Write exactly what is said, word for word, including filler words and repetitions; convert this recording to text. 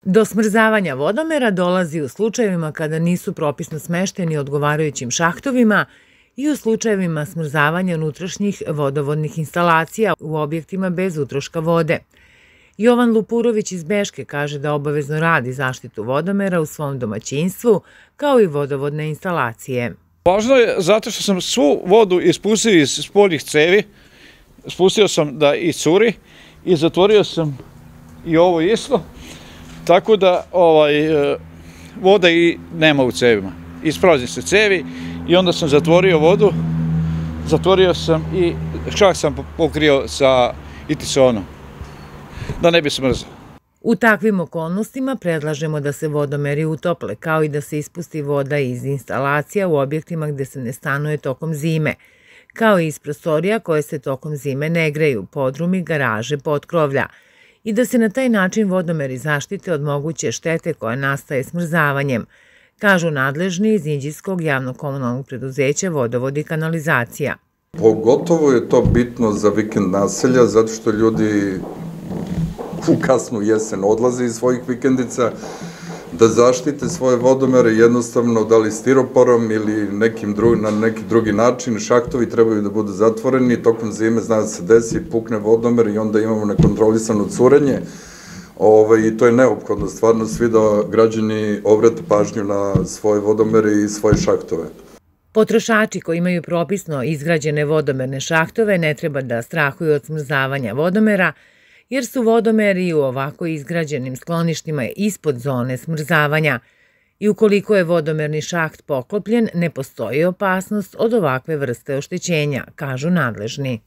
Do smrzavanja vodomera dolazi u slučajevima kada nisu propisno smešteni odgovarajućim šahtovima i u slučajevima smrzavanja unutrašnjih vodovodnih instalacija u objektima bez utroška vode. Jovan Lupurović iz Beške kaže da obavezno radi zaštitu vodomera u svom domaćinstvu, kao i vodovodne instalacije. Važno je zato što sam svu vodu ispustio iz spoljnih cevi, spustio sam da i curi i zatvorio sam i ovo isto, tako da ovaj, voda i nema u cevima. Isprazni se cevi i onda sam zatvorio vodu, zatvorio sam i čak sam pokrio sa itisonom, da ne bi smrzao. U takvim okolnostima predlažemo da se vodomeri utople, kao i da se ispusti voda iz instalacija u objektima gde se ne stanuje tokom zime, kao i iz prostorija koje se tokom zime ne greju, podrumi, garaže, potkrovlja, i da se na taj način vodomeri zaštite od moguće štete koja nastaje smrzavanjem, kažu nadležni iz Inđijskog javno-komunalnog preduzeća Vodovod i kanalizacija. Pogotovo je to bitno za vikend naselja, zato što ljudi u kasnu jesen odlaze iz svojih vikendica, da zaštite svoje vodomere jednostavno, da li stiroporom ili nekim drugi, na neki drugi način. Šahtovi trebaju da budu zatvoreni, tokom zime zna da se desi, pukne vodomer i onda imamo nekontrolisano curenje. I to je neophodno, stvarno svi da građani obrate pažnju na svoje vodomere i svoje šahtove. Potrošači koji imaju propisno izgrađene vodomerne šahtove ne treba da strahuju od smrzavanja vodomera, jer su vodomeri u ovako izgrađenim skloništima ispod zone smrzavanja i ukoliko je vodomerni šaht poklopljen, ne postoji opasnost od ovakve vrste oštećenja, kažu nadležni.